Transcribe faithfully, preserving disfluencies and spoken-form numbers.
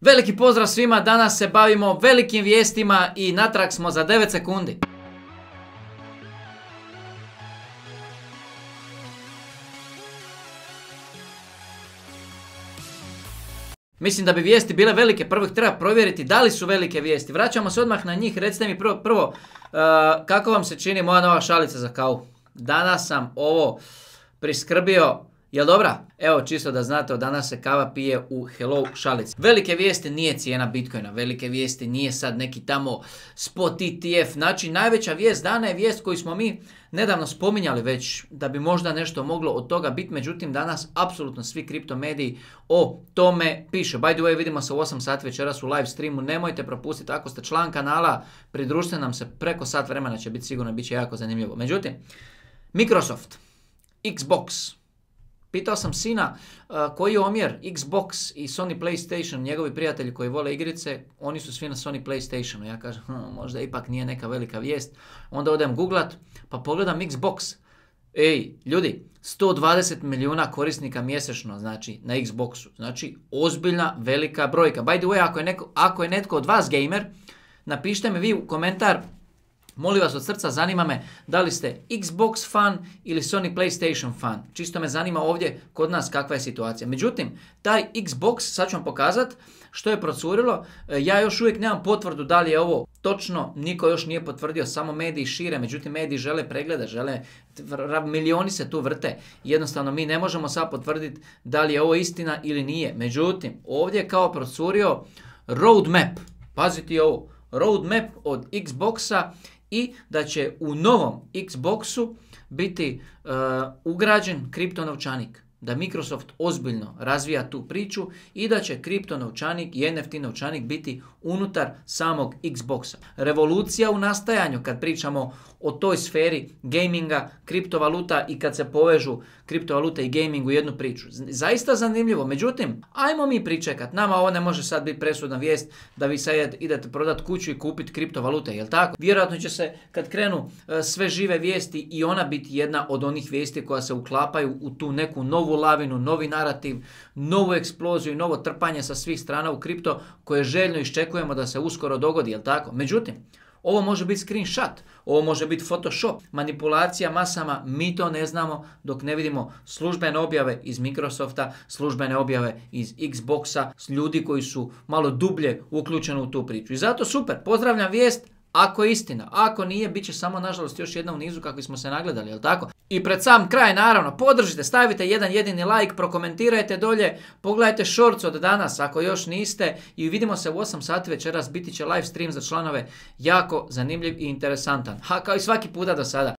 Veliki pozdrav svima, danas se bavimo velikim vijestima i natrag smo za devet sekundi. Mislim da bi vijesti bile velike, prvo ih treba provjeriti da li su velike vijesti. Vraćamo se odmah na njih, recite mi prvo, prvo uh, kako vam se čini moja nova šalica za kavu. Danas sam ovo priskrbio, jel dobra? Evo čisto da znate, od danas se kava pije u Hello šalici. Velike vijesti nije cijena Bitcoina, velike vijesti nije sad neki tamo spot E T F. Znači najveća vijest dana je vijest koju smo mi nedavno spominjali već da bi možda nešto moglo od toga biti. Međutim danas apsolutno svi kripto mediji o tome piše. By the way, vidimo se u osam sati večeras u live streamu. Nemojte propustiti, ako ste član kanala, pridružite nam se, preko sat vremena će biti sigurno, bit će jako zanimljivo. Međutim, Microsoft, Xbox. Pitao sam sina uh, koji je omjer Xbox i Sony PlayStation, njegovi prijatelji koji vole igrice, oni su svi na Sony PlayStationu. Ja kažem, hm, možda ipak nije neka velika vijest. Onda odem googlat, pa pogledam Xbox. Ej, ljudi, sto dvadeset milijuna korisnika mjesečno, znači, na Xboxu. Znači, ozbiljna, velika brojka. By the way, ako je, neko, ako je netko od vas gamer, napišite mi vi u komentar, molim vas od srca, zanima me da li ste Xbox fan ili Sony PlayStation fan. Čisto me zanima ovdje kod nas kakva je situacija. Međutim, taj Xbox, sad ću vam pokazati što je procurilo. Ja još uvijek nemam potvrdu da li je ovo točno, niko još nije potvrdio, samo mediji šire, međutim mediji žele pregleda, žele, milioni se tu vrte. Jednostavno mi ne možemo sad potvrditi da li je ovo istina ili nije. Međutim, ovdje je kao procurio roadmap, pazite ovo, roadmap od Xboxa, i da će u novom Xboxu biti uh, ugrađen kripto novčanik. Da Microsoft ozbiljno razvija tu priču i da će kripto novčanik i N F T novčanik biti unutar samog Xboxa. Revolucija u nastajanju kad pričamo o toj sferi gaminga, kriptovaluta i kad se povežu kriptovaluta i gaming u jednu priču. Zaista zanimljivo. Međutim, ajmo mi pričekat. Nama ovo ne može sad biti presudna vijest da vi sad idete prodati kuću i kupiti kriptovalute, jel tako? Vjerojatno će se kad krenu uh, sve žive vijesti i ona biti jedna od onih vijesti koja se uklapaju u tu neku novu lavinu, novi narativ, novu eksploziju i novo trpanje sa svih strana u kripto koje željno iščekujemo da se uskoro dogodi, jel tako? Međutim, ovo može biti screenshot, ovo može biti Photoshop, manipulacija masama, mi to ne znamo dok ne vidimo službene objave iz Microsofta, službene objave iz Xboxa, ljudi koji su malo dublje uključeni u tu priču. I zato super, pozdravljam vijest. Ako je istina, ako nije, bit će samo nažalost još jedna u nizu kakvi smo se nagledali, jel tako? I pred sam kraj naravno, podržite, stavite jedan jedini like, prokomentirajte dolje, pogledajte shorts od danas ako još niste i vidimo se u osam sati večeras, biti će live stream za članove, jako zanimljiv i interesantan. Ha, kao i svaki puta do sada.